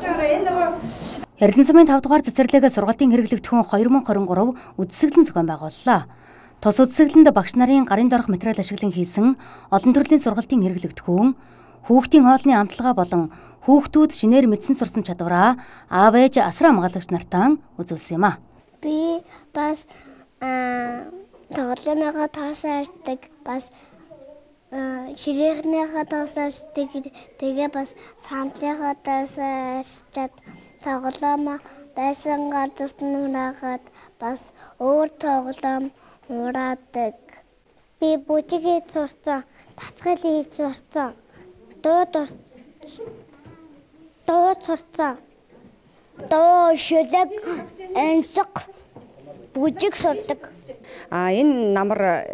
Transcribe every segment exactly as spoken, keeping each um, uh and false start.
Эрдэнэ сумын тавд дугаар цэцэрлэг сургалтын хэрэглэгдэхүүн хоёр мың хорин гурав үдсэглэн зохион байгууллаа. Тус үдсэглэнд багш нарын гарын дорох материал ашиглан хийсэн олон төрлийн сургалтын хэрэглэгдэхүүн, хүүхдийн хоолны амтлагаа болон хүүхдүүд шинээр мэдсэн сурсан чадвараа аав ээж асар хамгаалагч нартаа үзүүлсэн юм а. Би бас тоглоомынхаа тоосоо ашигладаг, бас ширээнийхээ тоосоо ашигладаг, тэгээ бас сандлынхаа тоосоо ашиглаад тоглоом байсан газарт нураагаад бас өөр тоглоом ураадаг. Би бүжиг хийж сурсан, татгал хийж сурсан, дуу дуу сурсан. Дуу шилэг энсэг бүжиг сурдаг. А энэ намар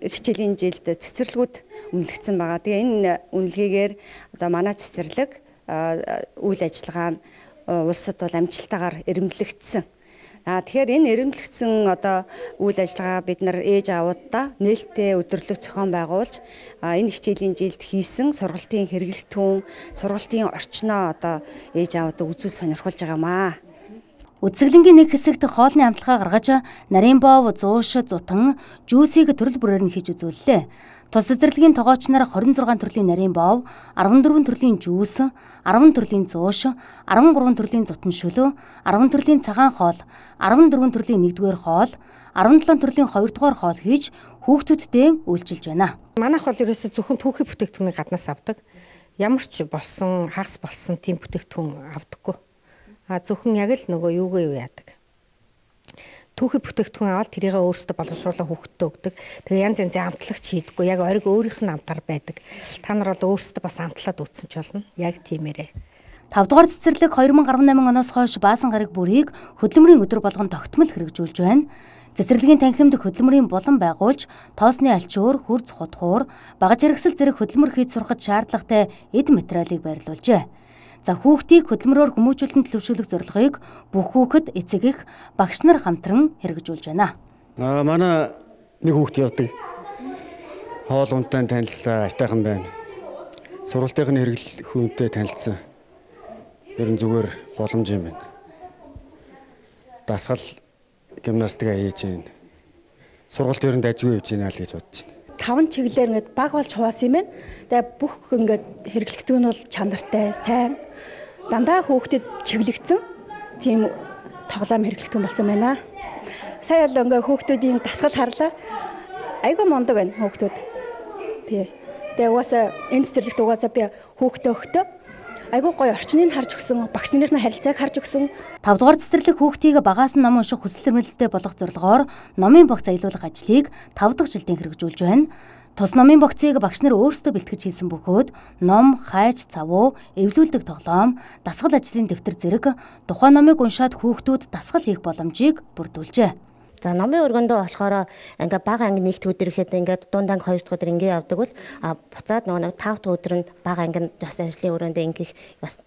хичээлийн жилд цэцэрлэгүүд үнэлэгдсэн байгаа. Тэгээ энэ үнэлгээгээр одоо манай цэцэрлэг үйл ажиллагаа нь улсад бол амжилттайгаар эрэмблэгдсэн. А тэгэхээр энэ эрэмблэгдсэн одоо үйл ажиллагаа бид нар ээж аавуудаа нээлттэй өдөрлөг зохион байгуулж энэ хичээлийн жилд хийсэн сургалтын хэрэглэгдэхүүн, сургалтын орчноо одоо ээж аавуудаа үзүүл сонирхуулж байгаа юм аа. Үдсэглэнгийн нэг хэсэгт хоолны амтлагаа гаргаж нарийн боов, зууш, зутан, жүүсийг төрөл бүрээр нь хийж үзүүллээ. Тус цэцэрлэгийн тогооч нар хорин зургаан төрлийн нарийн боов, арван дөрвөн төрлийн жүүс, арван төрлийн зууш, арван гурван төрлийн зутан шөлөө, арван төрлийн цагаан хоол, арван дөрвөн төрлийн нэгдүгээр хоол, арван долоон төрлийн хоёрдугаар хоол хийж хүүхдүүдтэй үйлчилж байна. Манайх бол ерөөсөө зөвхөн түүхий бүтээгдэхүүнийг гаднаас авдаг. Ямар ч болсон, хагас болсон тийм бүтээгдэхүүн авдаггүй. А зөвхөн яг л нөгөө юугаа юу яадаг. Түүхий бүтээгдэхүүн аваад тэрийг өөрсдөө боловсруулан хүүхдэд өгдөг. Тэгээ янз янзын амтлагч хийдэггүй. Яг ориг өөрийнх нь амтар байдаг. Та нар бол өөрсдөө бас амтлаад үтсэн ч болно. Яг тиймэрээ. тавд дугаар цэцэрлэг хоёр мың арван найман оноос хойш баасан гараг бүрийг хөдөлмөрийн өдөр болгон тогтмол хэрэгжүүлж байна. Цэцэрлэгийн танхимд хөдөлмөрийн булан байгуулж, тоосны альчуур, хурц хутгуур, багаж хэрэгсэл зэрэг хөдөлмөр хийж сурахад шаардлагатай эд материалыг байрлуулжээ. За хүүхдийг хөдөлмөрөөр хүмүүжүүлэн төлөвшүүлэх зорилгыг бүх хүүхэд, эцэг эх, багш нар хамтран хэрэгжүүлж байна. Аа манай нэг хүүхд явдаг. Хоол унтаан танилцлаа, айтайхан байна. Сургалтын хэрэглэхүүнтэй танилцсан. Ер нь зүгээр боломж юм байна. Дасгал гимнастика хийж байна. Сургалт ер нь дажгүй явж байна л гэж бодож байна. Таван чиглэлээр ингээд баг болж хуваасан юм байна. Тэгээ бүх ингээд хэрэглэгдэхүүн бол чанартай, сайн. Дандаа хүүхдэд чиглэгдсэн тийм тоглоом хэрэглэгдэхүүн болсон байна. Сая л ингээд хүүхдүүдийн дасгал харлаа. Айгүй мундаг байна хүүхдүүд. Тий. Тэгээ угаасаа энэ цэцэрлэгт угаасаа би хүүхдээ өгтөө айгүй гоё орчныг харж өгсөн, багш нарын харилцааг харж өгсөн. тавд дугаар цэцэрлэг хүүхдийг багаас нь ном унших хүсэл эрмэлзэлтэй болгох зорилгоор номын богц аялуулах ажлыг тав дахь жилдээ хэрэгжүүлж байна. Тус номын богцыг багш нар өөрсдөө бэлтгэж хийсэн бөгөөд ном, хайж, цавуу, эвлүүлдэг тоглоом, дасгал ажлын дэвтэр зэрэг тухайн номыг уншаад хүүхдүүд дасгал хийх боломжийг бүрдүүлжээ. За номын өргөндөө болохоор ингээ бага анги нэгт өдөр ихэд ингээ дунд анги хоёр дахь өдөр ингээ явдаг бол буцаад нөгөө тав дахь өдөр нь бага анги ёс ажлын өрөөндөө ингээ бас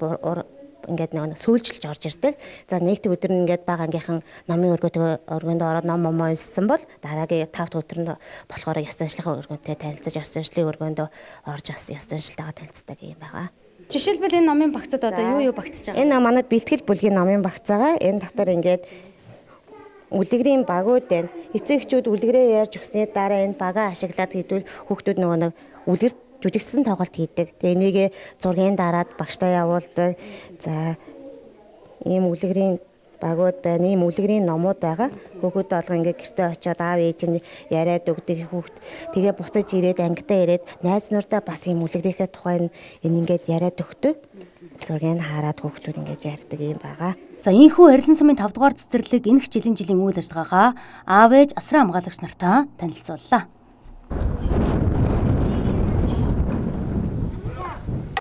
ингээд нөгөө сүүлжилж орж ирдэг. За нэгт өдөр нь ингээд бага ангийнхан номын өргөдөө өргөндөө ороод ном момоо унссан бол дараагийн тав дахь өдөр нь болохоор ёс ажлын өргөнтэй танилцаж ёс ажлын өргөндөө орж ёс ажлтайгаа танилцдаг юм байгаа. Жишээлбэл энэ номын багцад одоо юу юу багтж байгаа? Энэ манай бэлтгэл бүлгийн номын багцаагаа энэ дотор ингээд үлгэрийн багууд байна. Эцэгчүүд үлгэрээ ярьж өгсний дараа энэ багаа ашиглаад хийдвэл хүүхдүүд нөгөө нэг үлгэр жүжигсэн тоглолт хийдэг. Тэгээ энийг зургийн дараад багштай явуулдаг. За ийм үлгэрийн багууд байна. Ийм үлгэрийн номууд байгаа. Хүүхдүүд олго ингээ гэртээ очиод аав ээж нь яриад өгдөг хүүхд. Тэгээ буцаж ирээд ангидаа ирээд найз нурдаа бас ийм үлгэрийнхээ тухай энэ ингээд яриад өгдөг. Зургийг хараад хүүхдүүд ингээд ярьдаг юм байгаа. За ийхүү Эрдэнэ сумын тавд дугаар цэцэрлэг энэ хичээлийн жилийн үйл ажиллагаагаа аав ээж асран хамгаалагч нартаа танилцууллаа.